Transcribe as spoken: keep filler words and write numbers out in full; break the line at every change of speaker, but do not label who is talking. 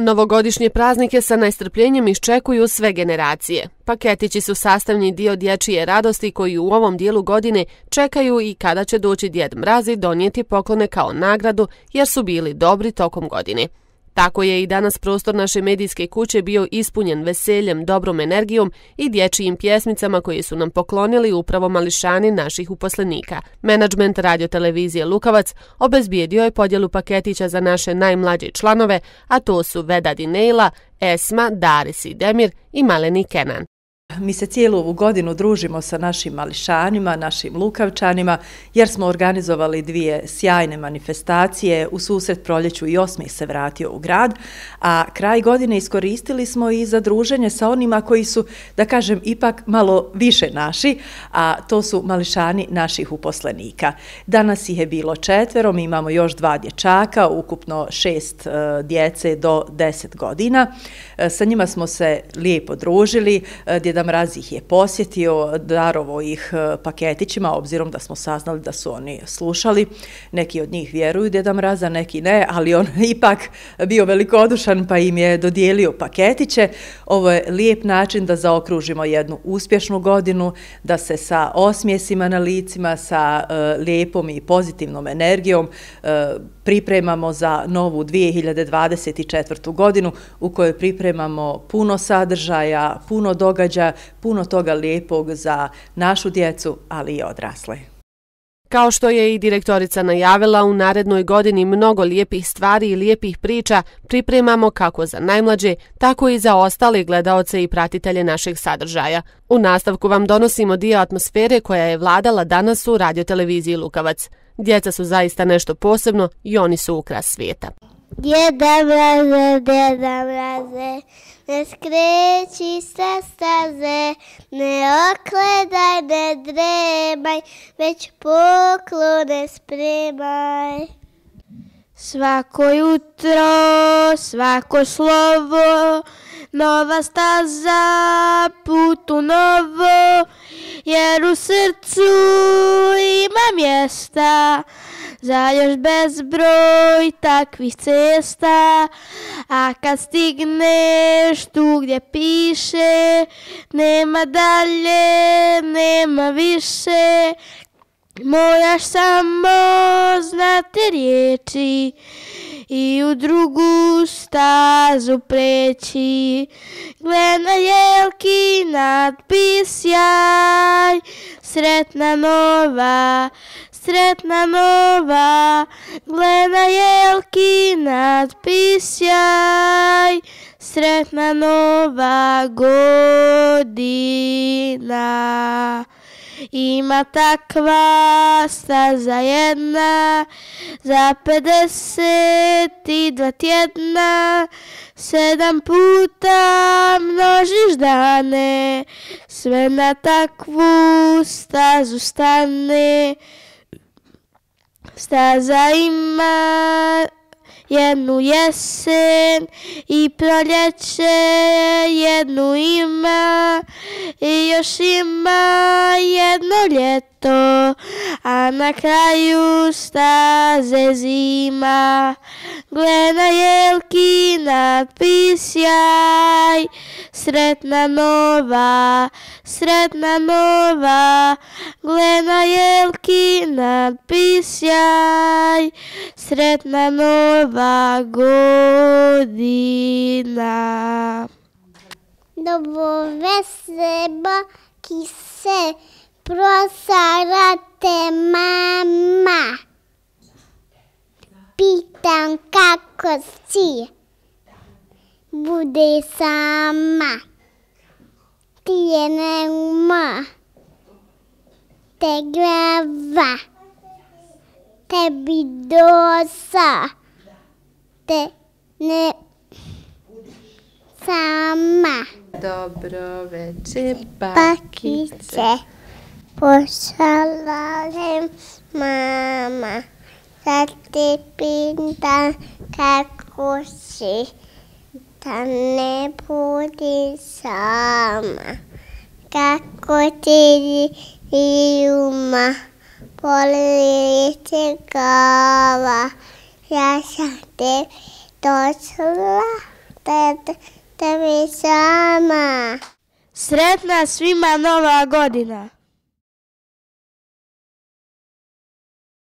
Novogodišnje praznike sa nestrpljenjem iščekuju sve generacije. Paketići su sastavni dio dječje radosti koji u ovom dijelu godine čekaju i kada će doći Djed Mraz i donijeti poklone kao nagradu jer su bili dobri tokom godine. Tako je i danas prostor naše medijske kuće bio ispunjen veseljem, dobrom energijom i dječjim pjesmicama koje su nam poklonili upravo mališani naših uposlenika. Menadžment radiotelevizije Lukavac obezbijedio je podjelu paketića za naše najmlađe članove, a to su Vedad i Nejla, Esma, Daris i Demir i maleni Kenan.
Mi se cijelu ovu godinu družimo sa našim mališanima, našim Lukavčanima, jer smo organizovali dvije sjajne manifestacije. U susret proljeću i osmih se vratio u grad, a kraj godine iskoristili smo i za druženje sa onima koji su, da kažem, ipak malo više naši, a to su mališani naših uposlenika. Danas ih je bilo četvero, mi imamo još dva dječaka, ukupno šest uh, djece do deset godina. Uh, sa njima smo se lijepo družili, uh, Djeda Mraz ih je posjetio, darovo ih paketićima, obzirom da smo saznali da su oni slušali. Neki od njih vjeruju Djeda Mraza, neki ne, ali on ipak bio velikodušan pa im je dodijelio paketiće. Ovo je lijep način da zaokružimo jednu uspješnu godinu, da se sa osmijesima na licima, sa uh, lijepom i pozitivnom energijom uh, pripremamo za novu dvije hiljade dvadeset četvrtu godinu u kojoj pripremamo puno sadržaja, puno događaja, puno toga lijepog za našu djecu, ali i odrasle.
Kao što je i direktorica najavila, u narednoj godini mnogo lijepih stvari i lijepih priča pripremamo kako za najmlađe, tako i za ostale gledaoce i pratitelje našeg sadržaja. U nastavku vam donosimo dio atmosfere koja je vladala danas u radioteleviziji Lukavac. Djeca su zaista nešto posebno i oni su ukras svijeta.
Djeda Mraze, Djeda Mraze, ne skreći sa staze, ne okledaj, ne dremaj, već poklone spremaj. Svako jutro, svako slovo, nova staza, put u novo, jer u srcu ima mjesta za još bezbroj takvih cesta. A kad stigneš tu gdje piše, nema dalje, nema više, moraš samo znati riječi i u drugu stazu preći. Gle na jelki natpis jaj, sretna nova, sretna nova. Gle na jelki natpis jaj, sretna nova godina. Ima takva staza jedna, za pedeset i dva tjedna, sedam puta množiš dane, sve na takvu stazu stane. Staza ima jednu jesen i proljeće, jednu ima i još ima jedno ljeto, a na kraju staze zima. Gle na jelki natpis jaj, sretna nova, sretna nova. Gle na jelki natpis jaj, sretna nova godina. Dobro veseba kise prosarate mama. Pitam kako si, bude sama. Ti je neuma, te glava, tebi dosa, te ne sama.
Dobro večer,
Bakice, pošalalem mama. Sad te pitam kako si, da ne budi sama. Kako ti ljuma, boli te glava, ja sam te došla te, tebi sama.
Sretna svima Nova godina!